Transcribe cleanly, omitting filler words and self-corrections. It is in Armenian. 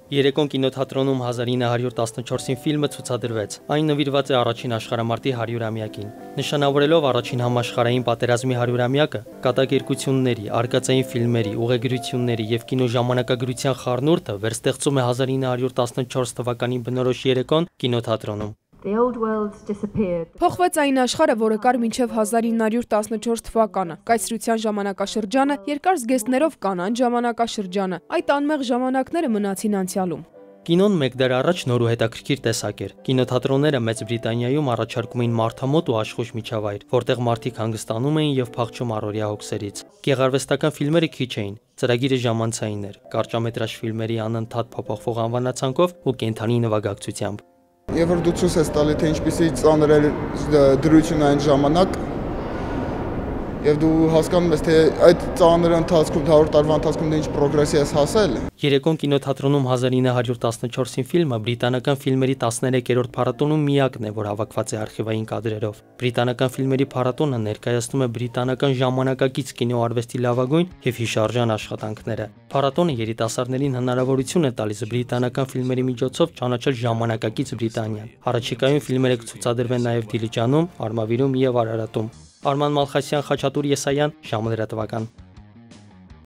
Երեկոն կինոթատրոնում 1914-ին ֆիլմը ցուցադրվեց։ Այն նվիրված է առաջին աշխարհամարտի 100-ամյակին։ Նշանավորելով առաջին համաշխարհային պատերազմի 100-ամյակը, կատակերգությունների, արկածային ֆիլմերի, ուղեգրությունների եւ կինոժամանակագրության խառնուրդը վերստեղծում է 1914 թվականի բնորոշ երեկոն կինոթատրոնում։ Փոխվեց այն աշխարհը, որը կար մինչև 1914 թվականը, կայսրության ժամանակաշրջանը, երկար զգեստներով կանանց ժամանակաշրջանը, այդ անմեղ ժամանակները մնացին անցյալում։ Կինոն մեկ դար առաջ նոր ու հետաքրքիր տեսակ էր։ Կինոթատրոնները Մեծ Բրիտանիայում առաջարկում էին մարդամոտ ու աշխույժ միջավայր, որտեղ մարդիկ հանգստանում էին եւ փախչում առօրյա հոգսերից։ Գեղարվեստական ֆիլմերը քիչ էին, ծրագիրը ժամանցային էր, կարճամետրաժ ֆիլմերի անընդհատ փոփոխվող անվանացանքով ու կենդանի նվագակցությամբ։ Եվ որ դու ցույց ես տալի, թե ինչպեսի ծանր էր դրությունը այն ժամանակ, եւ դու հասկանում ես, թե այդ ծանր ընթացքում 100 տարվա ընթացքում դու ինչ պրոգրեսի ես հասել։ Երեկոն կինոթատրոնում 1914-ին ֆիլմը բրիտանական ֆիլմերի 13-րդ փառատոնում միակն է, որ հավաքված է արխիվային կադրերով։ Բրիտանական ֆիլմերի փառատոնը ներկայացնում է բրիտանական ժամանակակից կինոարվեստի լավագույն եւ հիշարժան աշխատանքները։ Փառատոնը երիտասարդներին հնարավորություն է տալիս բրիտանական ֆիլմերի միջոցով ճանաչել ժամանակակից Բրիտանիան։ Առաջիկայում ֆիլմերը կցուցադրվեն նաեւ Դիլիջանում, Արմավիրում եւ Արարատում։ Արման Մալխասյան, Խաչատուր Եսայան, Ժամը լրատվական։